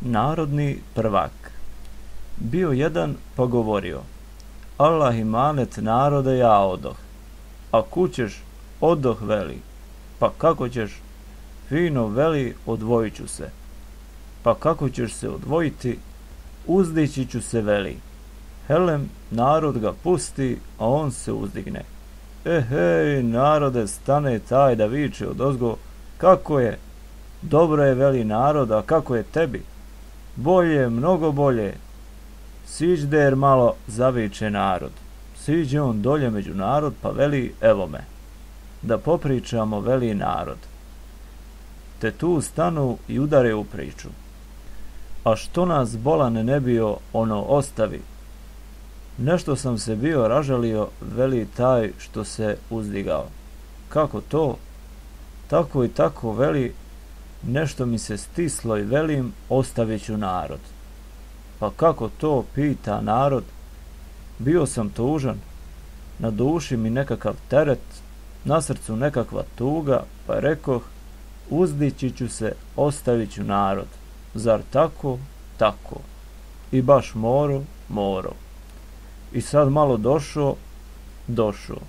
Narodni prvak. Bio jedan pa govorio: Allah imanet narode, ja odoh. A kućeš? Odoh, veli. Pa kako ćeš? Fino, veli, odvojit ću se. Pa kako ćeš se odvojiti? Uzdići ću se, veli. Helem, narod ga pusti, a on se uzdigne. Hej, narode, stane taj da viče odozgo: kako je? Dobro je, veli narod, a kako je tebi? Bolje, mnogo bolje. Siđder malo, zaviče narod. Siđe on dolje među narod, pa veli: evo me. Da popričamo, veli narod. Te tu stanu i udare u priču. A što nas bolan ne bio, ono ostavi. Nešto sam se bio ražalio, veli taj što se uzdigao. Kako to? Tako i tako, veli, nešto mi se stislo i velim, ostavit ću narod. Pa kako to, pita narod. Bio sam tužan, na duši mi nekakav teret, na srcu nekakva tuga, pa rekoh: uzdići ću se, ostavit ću narod. Zar tako? Tako. I baš moro. I sad malo došao.